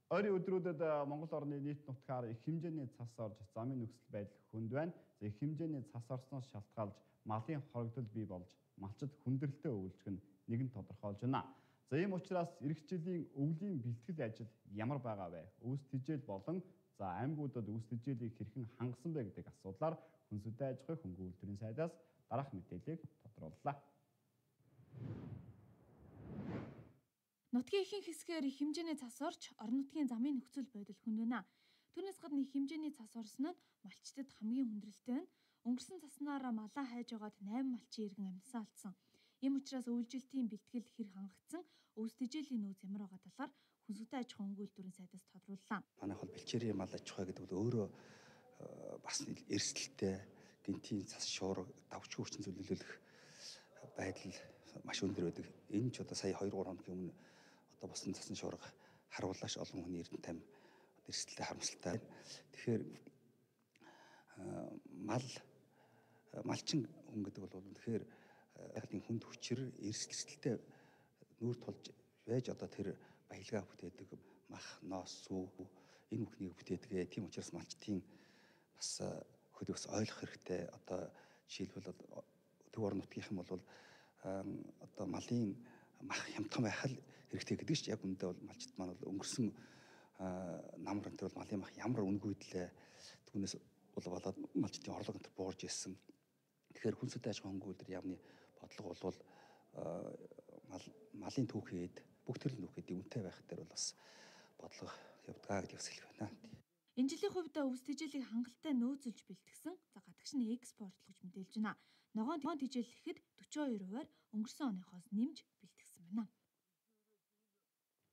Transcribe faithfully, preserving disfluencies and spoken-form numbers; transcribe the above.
Ойрын өдрүүдэд Монгол орны нийт нутгаар их хэмжээний цас орж замын нөхцөл байдал хүнд байна. За их хэмжээний цас орсноос шалтгаалж малын хорогдол бий болж малчид хүндрэлтэй өвлжих нь нэгэн тодорхойлж байна. За ийм учраас эх жилийн өвлийн бэлтгэл ажил ямар байгаа вэ? Өвс тэжээл болон за аймагуудад өвс тэжээлийг хэрхэн хангасан бэ гэдэг асуудлаар Хүнсүдэ аж ахуй хөнгөн үйлдвэрийн сайдаас дараах мэдээллийг тодрууллаа. Нутгийн ихэнх хэсгээр их хэмжээний цас орж орон нутгийн замын нөхцөл байдал хүнд байна. Түүнээс гадна их хэмжээний цас орсон нь малчдад хамгийн хүндрэлтэй нь. Өнгөрсөн цаснаараа малаа хайж байгаад найман малчин иргэн амьсаа алдсан. Ийм учраас өвлжилтийн бэлтгэл хэр хангагдсан, өвс тэжээлийн нөөц ямар байгаа талаар Хүнсүдэ аж ахуй хөнгөн үйлдвэрийн сайдаас тодрууллаа. Манайх бол бэлчээрийн мал аж ахуй гэдэг бол өөрөө бас эрсдэлтэй гинтийн цас шуурга давч хүчин зөвлөлөх байдал маш өндөр байдаг. Энэ ч одоо сая хоёр гурван хоногийн өмнө одоо босон цасны шуурга харуулж олон хүний эрдэнэ тайм эрсдэлтэй харамсалтай байна. Тэгэхээр мал малчин хүн гэдэг бол тэгэхээр байгалийн хүнд хүчээр эрсдэлтэй нүүр тулж байж одоо тэр баялгаа бүтээдэг мах, ноос, сүү энэ бүхнийг бүтээдэг. Тийм учраас малчдын бас хөдөөс ойлгох хэрэгтэй. Одоо жишээлбэл төв орон нутгийнхан бол одоо малын мах хямдхан байх хэрэгтэй гэдэг чинь яг үндэ бол малчд маань бол өнгөрсөн намар энэ бол малын мах ямар үнгүйдлээ түүнээс бол болоод малчдын орлого энэ буурж ирсэн. Тэгэхээр Хүнсүдэ аж ахуй хөнгөн үйлдвэр яамны бодлого бол мал малын түүхэд бүх төрлийн түүхэд үнэтэй байх дээр бол бас бодлого явдгаа гэж хэлэх байна. Энэ жилийн хувьд өвс тэжээлийг хангалттай нөөцөлж бэлтгэсэн. За гадагш нь экспортлох гэж мэдээлж байна. Ногоон тэжээл ихэд дөрвөн хоёр хувиар өнгөрсөн оныхоос нэмж бэлтгэсэн байна.